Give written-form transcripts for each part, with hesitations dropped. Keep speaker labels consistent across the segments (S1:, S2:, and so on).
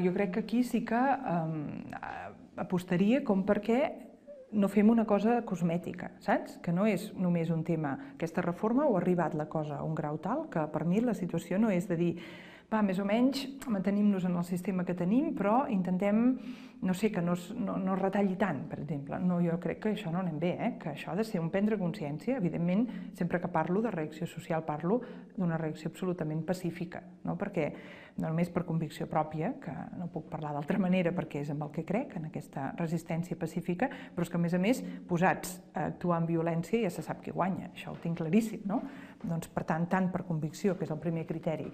S1: Jo crec que aquí sí que apostaria com perquè no fem una cosa cosmètica, saps? Que no és només un tema, aquesta reforma o ha arribat la cosa a un grau tal que per mi la situació no és de dir va, més o menys mantenim-nos en el sistema que tenim, però intentem, no sé, que no es retalli tant, per exemple. No, jo crec que això no anem bé, que això ha de ser un prendre consciència. Evidentment, sempre que parlo de reacció social, parlo d'una reacció absolutament pacífica, no? Perquè no només per convicció pròpia, que no puc parlar d'altra manera perquè és amb el que crec, en aquesta resistència pacífica, però és que, a més, posats a actuar amb violència ja se sap qui guanya, això ho tinc claríssim, no? Doncs, per tant per convicció, que és el primer criteri,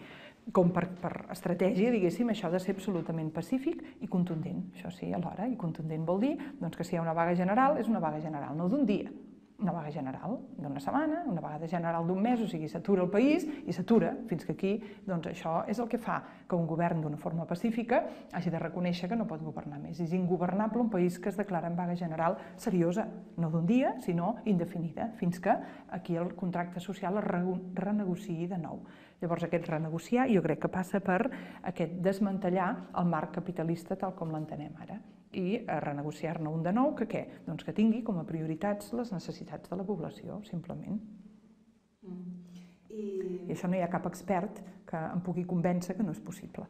S1: com per estratègia, diguéssim, això ha de ser absolutament pacífic i contundent. Això sí, alhora, i contundent vol dir que si hi ha una vaga general, és una vaga general, no d'un dia, una vaga general d'una setmana, una vaga general d'un mes, o sigui, s'atura el país i s'atura fins que aquí, doncs això és el que fa que un govern d'una forma pacífica hagi de reconèixer que no pot governar més. És ingovernable un país que es declara en vaga general seriosa, no d'un dia, sinó indefinida, fins que aquí el contracte social es renegociï de nou. Llavors, aquest renegociar jo crec que passa per aquest desmantellar el marc capitalista tal com l'entenem ara i renegociar-ne un de nou que què? Doncs que tingui com a prioritats les necessitats de la població, simplement. I això no hi ha cap expert que em pugui convèncer que no és possible.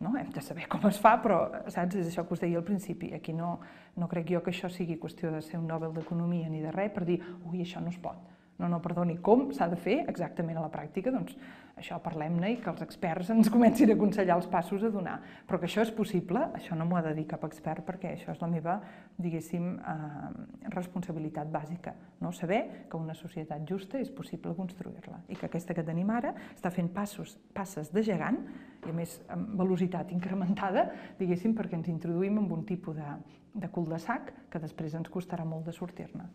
S1: No? Hem de saber com es fa, però saps? És això que us deia al principi. Aquí no crec jo que això sigui qüestió de ser un Nobel d'Economia ni de res per dir, ui, això no es pot. No, perdoni, com s'ha de fer exactament a la pràctica? Doncs això parlem-ne i que els experts ens comencin a aconsellar els passos a donar. Però que això és possible, això no m'ho ha de dir cap expert perquè això és la meva, diguéssim, responsabilitat bàsica. Saber que una societat justa és possible construir-la i que aquesta que tenim ara està fent passes de gegant i a més amb velocitat incrementada, diguéssim, perquè ens introduïm en un tipus de cul de sac que després ens costarà molt de sortir-ne.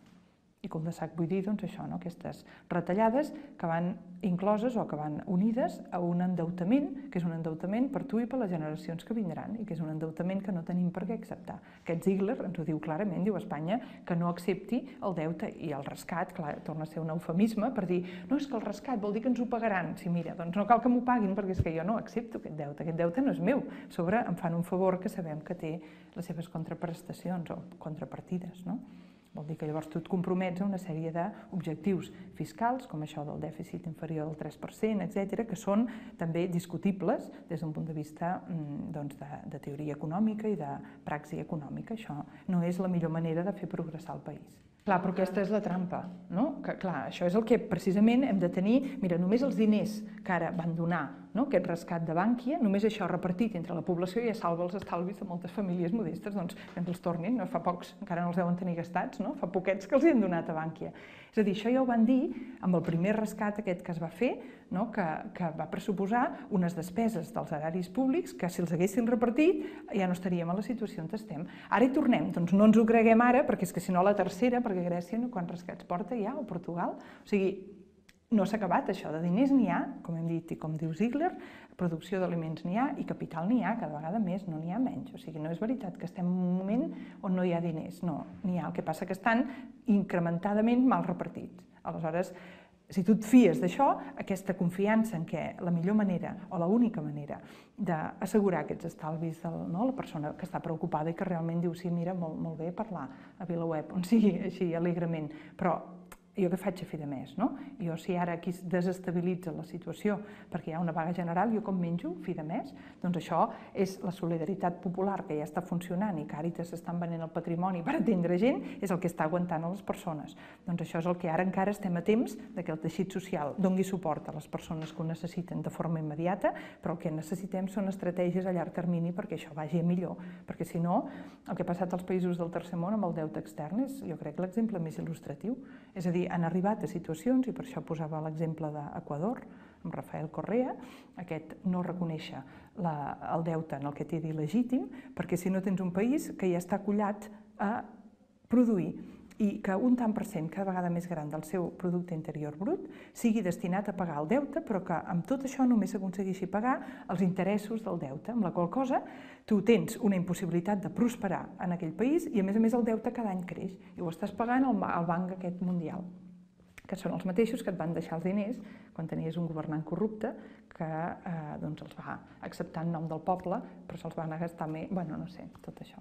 S1: I cul de sac vull dir, doncs això, aquestes retallades que van incloses o que van unides a un endeutament, que és un endeutament per tu i per les generacions que vindran i que és un endeutament que no tenim per què acceptar. Aquest Ziegler ens ho diu clarament, diu a Espanya que no accepti el deute i el rescat, clar, torna a ser un eufemisme per dir, no, és que el rescat vol dir que ens ho pagaran. Sí, mira, doncs no cal que m'ho paguin perquè és que jo no accepto aquest deute no és meu. A sobre em fan un favor que sabem que té les seves contraprestacions o contrapartides, no? Vol dir que llavors tu et compromets a una sèrie d'objectius fiscals, com això del dèficit inferior al 3%, etc., que són també discutibles des d'un punt de vista de teoria econòmica i de praxi econòmica. Això no és la millor manera de fer progressar el país. Clar, però aquesta és la trampa, no? Que, clar, això és el que precisament hem de tenir. Mira, només els diners que ara van donar, aquest rescat de Bànquia, només això repartit entre la població ja salva els estalvis de moltes famílies modestes, doncs que ens els tornin, fa pocs, encara no els deuen tenir gastats, fa poquets que els hi han donat a Bànquia. És a dir, això ja ho van dir amb el primer rescat aquest que es va fer, que va pressuposar unes despeses dels eraris públics que si els haguessin repartit ja no estaríem a la situació on estem. Ara hi tornem, doncs no ens ho creguem ara, perquè és que si no la tercera, perquè Grècia quants rescats porta ja, o Portugal, o sigui, no s'ha acabat això, de diners n'hi ha, com hem dit i com diu Ziegler, producció d'aliments n'hi ha i capital n'hi ha, cada vegada més, no n'hi ha menys. O sigui, no és veritat que estem en un moment on no hi ha diners, no, n'hi ha. El que passa que estan incrementadament mal repartits. Aleshores, si tu et fies d'això, aquesta confiança en què la millor manera o l'única manera d'assegurar aquests estalvis de la persona que està preocupada i que realment diu, sí, mira, molt bé parlar a VilaWeb, on sigui així alegrement, però jo què faig a fi de mes, no? Jo si ara aquí es desestabilitza la situació perquè hi ha una vaga general, jo com menjo fi de mes? Doncs això és la solidaritat popular que ja està funcionant i Càritas estan venent el patrimoni per atendre gent, és el que està aguantant a les persones. Doncs això és el que ara encara estem a temps que el teixit social doni suport a les persones que ho necessiten de forma immediata, però el que necessitem són estratègies a llarg termini perquè això vagi a millor, perquè si no, el que ha passat als països del tercer món amb el deute extern és, jo crec, l'exemple més il·lustratiu. És a dir, han arribat a situacions, i per això posava l'exemple d'Equador, amb Rafael Correa, aquest no reconèixer el deute en el que té d'il·legítim, perquè si no tens un país que ja està acollat a produir i que un tant per cent cada vegada més gran del seu producte interior brut sigui destinat a pagar el deute, però que amb tot això només s'aconsegueixi pagar els interessos del deute, amb la qual cosa tu tens una impossibilitat de prosperar en aquell país i a més el deute cada any creix i ho estàs pagant al banc aquest mundial. que són els mateixos que et van deixar els diners quan tenies un governant corrupte que els va acceptar en nom del poble, però se'ls va anar a gastar més, bueno, no sé, tot això.